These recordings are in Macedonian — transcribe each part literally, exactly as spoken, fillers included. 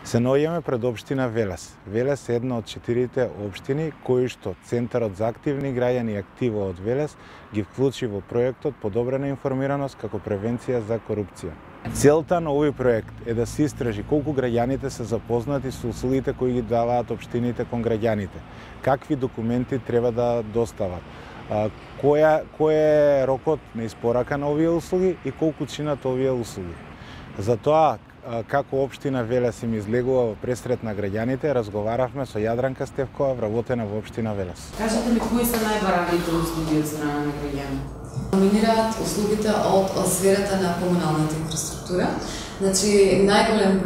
Се наоѓаме пред општина Велес. Велес е една од четирите општини кои што Центарот за активни граѓани активо од Велес ги вклучи во проектот Подобрена информираност како превенција за корупција. Целта на овој проект е да се истражи колку граѓаните се запознати со услугите кои ги даваат општините кон граѓаните, какви документи треба да достават, која кој е рокот на испорака на овие услуги и колку чинат овие услуги. Затоа, како општина Велес им излегува во пресрет на граѓаните, разговаравме со Јадранка Стевкова, вработена во општина Велес. Кажете ми, кои се најбараните услуги од страна на граѓаните? Доминираат услугите од сферата на комуналната инфраструктура. Значи, најголем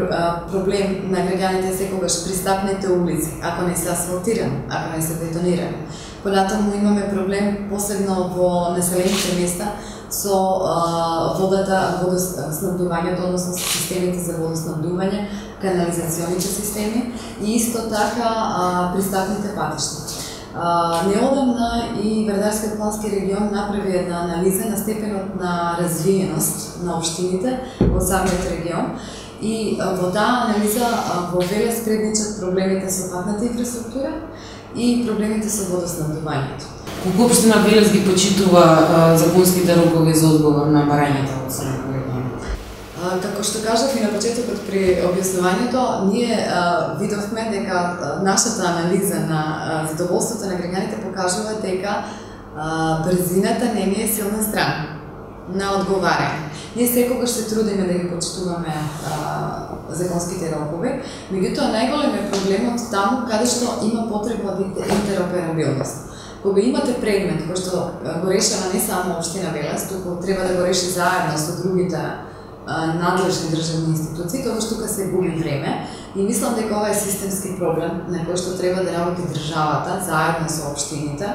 проблем на граѓаните е секогаш пристапните улици, ако не се асфалтирани, ако не се бетонирани. Понатаму имаме проблем посебно во населените места со а, водата, водоснабдувањето, односно системите за водоснабдување, канализационите системи и исто така а, пристапните патишта. Неодамна и Вардарскиот плански регион направи една анализа на степенот на развиеност на општините во самиот регион и во таа анализа во Велес предничат проблемите со патната инфраструктура и проблемите со водоснабдувањето. Колку општина Велес ги почитува а, законските рокови за одговор на барањата од страна на граѓаните? Како што кажав и на почетокот при објаснувањето, ние а, видовме дека а, нашата анализа на а, задоволството на граѓаните покажува дека а, брзината не ни е силна страна на одговарање. Ние секогаш се трудиме да ги почитуваме а, законските рокови, меѓутоа најголем е проблемот таму каде што има потреба од интероперабилност. Кога имате предмет кој што го решава не само општина Велес, туку треба да го реши заедно со другите надлежни државни институции, тогаш тука се губи време и мислам дека ова е системски проблем на кој што треба да работи државата заедно со општините.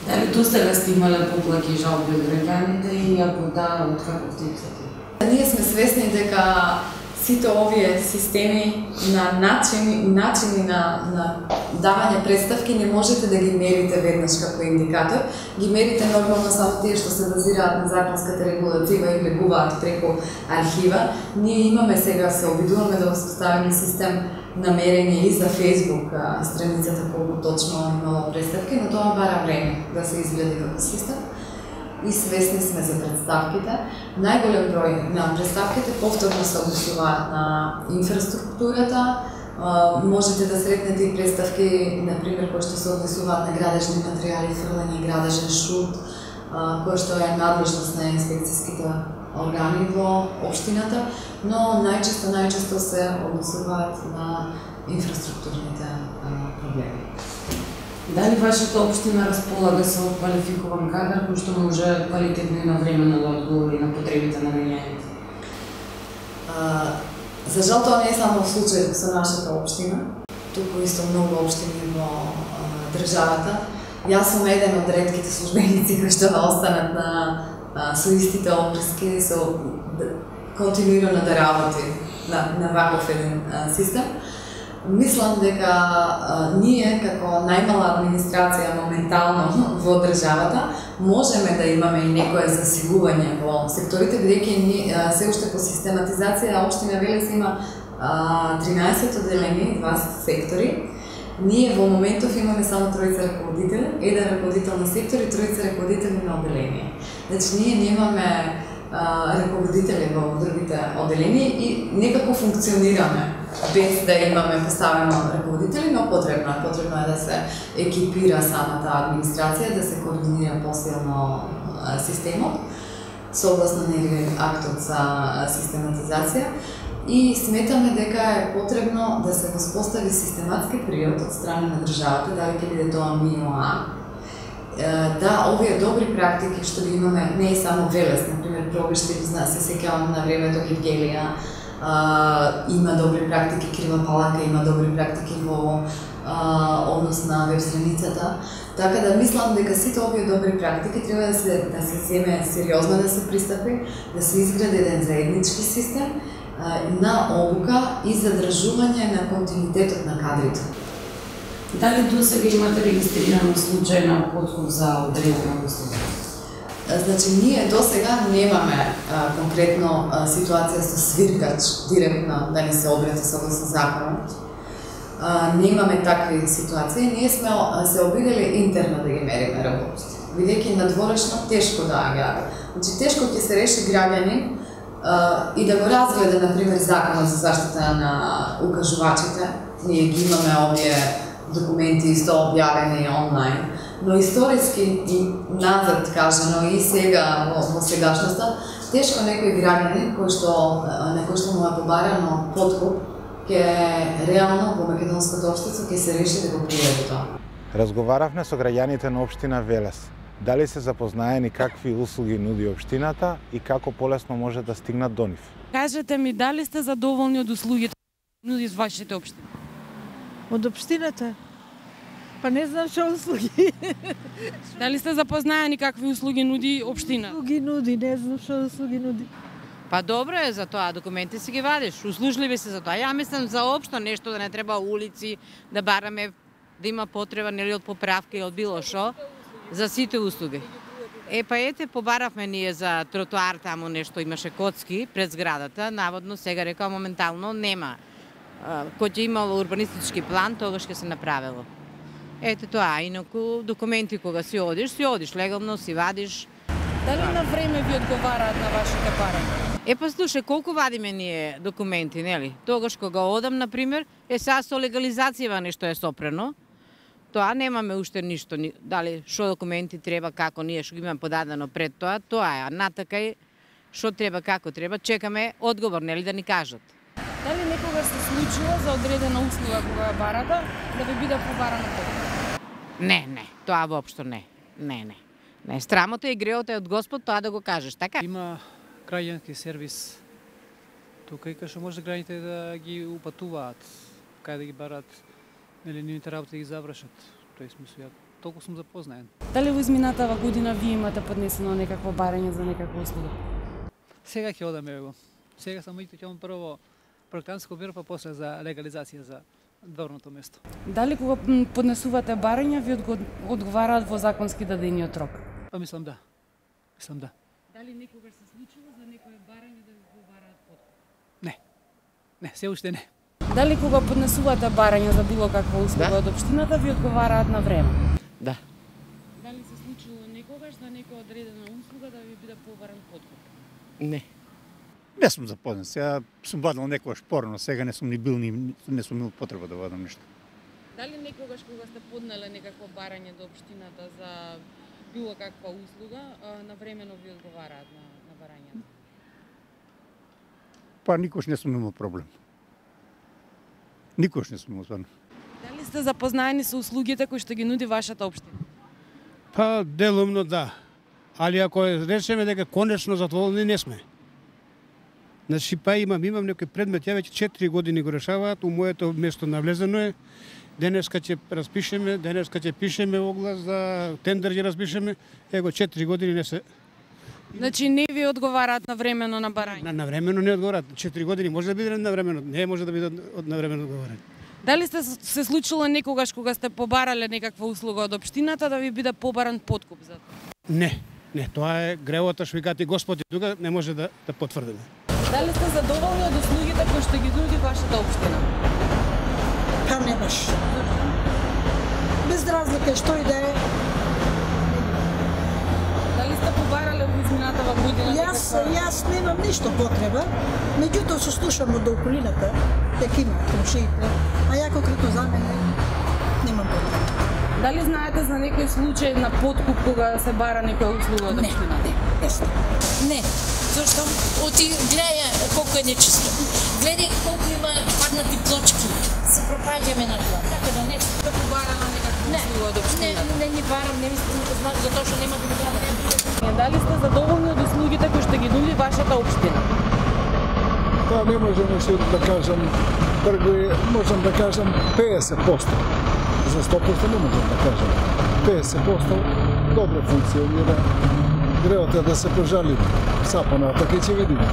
Дали досега сте имале поплаки и жалби од граѓаните и ако да, од каков тип се ти? Ние сме свесни дека сите овие системи на начини, начини на, на давање представки не можете да ги мерите веднаш како индикатор. Ги мерите нормално само тие што се базираат на законската регулатива и влегуваат преку архива. Ние имаме сега, се обидуваме да успоставиме систем на мерење и за Facebook страницата колку точно имало представки, но тоа бара време да се изгледа како систем. И свесни сме за представките. Најголем број на представките повторно се однесуваат на инфраструктурата. Можете да сретнете и представки, например, кои што се однесуваат на градежни материјали, фрлање, градежен шут, кој што е надлежност на инспекцијските органи во општината, но најчесто најчесто се однесуваат на инфраструктурните проблеми. Дали вашата општина располага со квалификуван кадар кој што може квалитетно и навремено да одговори на потребите на граѓаните? За жал тоа не е само случај со нашата општина, туку исто многу општини во а, државата. Јас сум еден од ретките службеници кои што останат на а, со истите оприски, со континуирано да работи на, на ваков еден а, систем. Мислам дека а, ние, како најмала администрација моментално во државата, можеме да имаме и некое засилување во секторите, бидејќи се уште по систематизација општина Велес има а, тринаесет одделени, два сектори. Ние во моментов имаме само тројца раководители, еден раководител на сектор и тројца раководители на одделение. Значи ние немаме а, раководители во другите одделени и некако функционираме без да имаме поставено раководители, но потребно е. Потребно е да се екипира самата администрација, да се координира посилно системот, согласно нели актот за систематизација. И сметаме дека е потребно да се воспостави систематски период од страна на државата, дали ќе биде тоа МИОА, да овие добри практики што ги имаме, не е само Велес, например, Пробишти, се сеќавам на времето Гевгелија, Uh, има добри практики, Крива Паланка има добри практики во uh, однос на веб страницата. Така да мислам дека сите овие добри практики треба да се да се земе сериозно да се пристапи, да се изгради еден заеднички систем uh, на обука и задржување на континуитетот на кадрите. Дали досега имате регистрирано случај на подкуп за одредена услуга? Значи, ние до сега немаме а, конкретно а, ситуација со свиркач директно да ни се обрати согласно законот. А, немаме такви ситуации. Ние сме а, се обидели интерно да ги мериме работите. Бидејќи надворешно тешко доаѓа. Значи, тешко ќе се реши граѓанин а, и да го разгледа, например, законот за заштита на укажувачите. Ние ги имаме овие документи исто објавени онлайн. Но историски и назад кажано и сега во, во сегашноста, тешко некој граѓанин кој што на кој што му е побарано подкуп ќе реално во македонското општество ќе се реши да го приведе тоа. Разговаравме со граѓаните на општина Велес. Дали се запознаени какви услуги нуди општината и како полесно може да стигнат до нив? Кажете ми, дали сте задоволни од услугите нуди вашите општини? Од општината? Па не знам што услуги. Дали сте запознаени какви услуги нуди општина? Услуги нуди, не знам што услуги нуди. Па добро е за тоа, документи си ги вадиш, услужливи се за тоа. Ја мислам за општо нешто да не треба улици, да бараме, да има потреба нели од поправка или од било шо, за сите услуги. Е, па ете, побаравме ние за тротоар, таму нешто имаше коцки пред зградата, наводно сега рекao моментално нема. Кој ќе имало урбанистички план, тогаш ќе се направило. Ете тоа, инаку документи кога си одиш, си одиш, легално си вадиш. Дали на време ви одговараат на вашите барања? Е, па слушај, колку вадиме ние документи, нели? Тогаш кога одам, например, е сега со легализацијава нешто е сопрено. Тоа немаме уште ништо, дали што документи треба, како ние што ги имаме подадено пред тоа, тоа е, а натакај што треба, како треба, чекаме одговор, нели да ни кажат. Дали некогаш се случило за одредена услуга кога ја барате да ви биде побарано подкуп? Не, не, тоа воопшто не. Не, не. Не, страмота и греото е од Господ тоа да го кажеш, така? Има граѓански сервис тука и кај што може граѓаните да ги упатуваат, кај да ги барат, нели нивните работи да ги завршат. Тој смисла, ја толку сум запознаен. Дали во изминатава година вие имате поднесено некакво барање за некаква услуга? Сега ќе одаме го. Сега само и ќе прво проектантско биро, па после за легализација за дворното место. Дали кога поднесувате барања ви одговараат во законски дадениот рок? Па мислам да. Мислам да. Дали некогаш се случило за некое барање да ви одговараат подкуп? Не. Не, се уште не. Дали кога поднесувате барање за било каква услуга Да. од општината ви одговараат на време? Да. Дали се случило некогаш за некоја одредена услуга да ви биде побаран подкуп? Не. Не сум запознат. Сега сум вадил некоја шпорно, сега не сум ни бил ни не сум имал потреба да вадам нешто. Дали некогаш кога сте поднеле некакво барање до општината за било каква услуга, навремено ви одговараат на, на барањето? Па никош не сум имал проблем. Никош не сум имал стварно. Дали сте запознаени со услугите кои што ги нуди вашата општина? Па делумно да. Али ако речеме дека конечно задоволни не сме. Значи па имам имам некој предмет, ја веќе четири години го решаваат, у моето место навлезено е. Денеска ќе распишеме, денеска ќе пишеме оглас за тендер ќе распишеме. Его четири години не се. Значи не ви одговараат навремено на барање? На навремено не одговараат. четири години може да биде навремено, не може да биде од навремено одговарање. Дали сте се случило некогаш кога сте побарале некаква услуга од општината да ви биде побаран подкуп за тоа? Не, не, тоа е гревото што ви кажа Господи, тука не може да да потврдиме. Дали сте задоволни од услугите кои што ги нуди вашата општина? Па не баш. Без разлика што и да е. Дали сте побарале во изминатава година? Јас, некаква- јас немам ништо потреба, меѓутоа се слушам од околината, дека има комшиите, а ја конкретно за мене немам потреба. Дали знаете за некој случај на подкуп кога се бара некоја услуга од Не, општина? не, есно. Не, зашто оти гледај колку е нечисто. Гледај колку има паднати плочки. Се пропаѓаме на тоа. Така да не. Сте побарала некаква Не, услуга од не, општина? не ни барам, не мислам да знам затоа што нема да го барам. Дали сте задоволни од услугите кои што ги нуди вашата општина? Па не можам уште да кажам, прво можам да кажам педесет проценти. За сто проценти не можам да кажам. педесет проценти добро функционира. Греото е да се пожали сапана, така ќе видиме.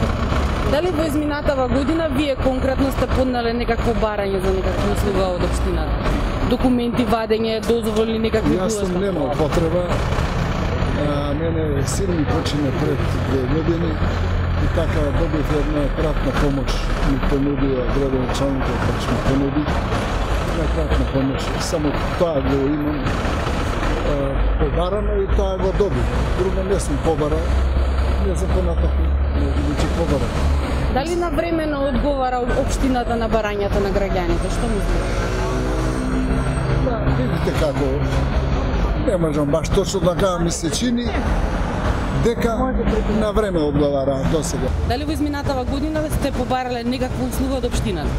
Дали во изминатава година вие конкретно сте поднале некакво барање за некаква услуга од општината? Документи, вадење, дозволи, некакви Јас сум било немал што? потреба, А мене син ми почина пред две години и така добив една кратна помош. Ми понудија градоначалникот, така ми понуди една кратна помош. Само тоа го имам побарано и тоа го добив. Друго не сум побарал, не знам понатаку, не ги побарал. Дали навремено одговара општината на барањата на граѓаните? Што мислите? Да, видите како, не можам баш точно да кажам, ми се чини дека на време одговара до сега. Дали во изминатава година сте побарале некаква услуга од општината?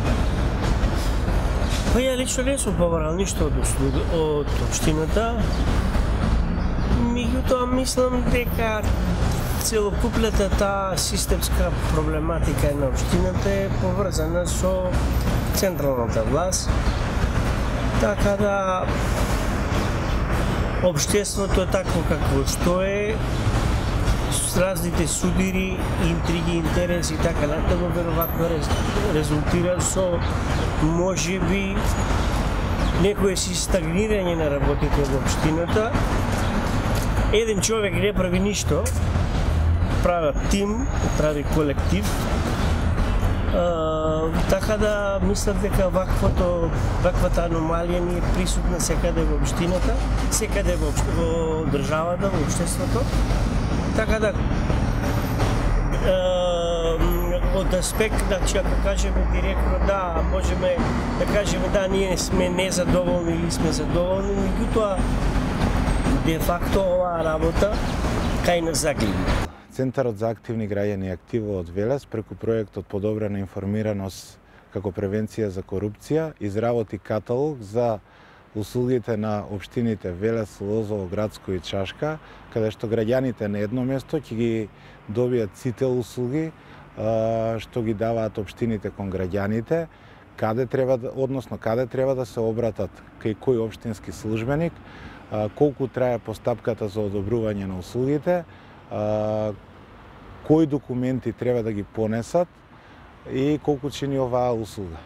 Па ја лично не сум побарал ништо од услуга од општината. Меѓутоа мислам дека целокупната таа системска проблематика на општината е поврзана со централната власт. Така да општеството е такво какво што е, с разните судири, интриги, интереси и така натаму, веројатно резултира со можеби некое си стагнирање на работите во општината. Еден човек не прави ништо, прави тим, прави колектив. Uh, така да мислам дека ваквото, ваквата аномалија ни е присутна секаде во општината, секаде во, во државата, во општеството. Така да uh, од аспект, значи ако кажеме директно да, можеме да кажеме да, ние сме незадоволни или сме задоволни, меѓутоа де факто оваа работа кај нас загледа. Центарот за активни граѓани активо од Велес преку проектот Подобрена информираност како превенција за корупција изработи каталог за услугите на општините Велес, Лозово, Градско и Чашка, каде што граѓаните на едно место ќе ги добијат сите услуги што ги даваат општините кон граѓаните, каде треба, односно каде треба да се обратат кај кој општински службеник, колку трае постапката за одобрување на услугите, кои документи треба да ги понесат и колку чини оваа услуга.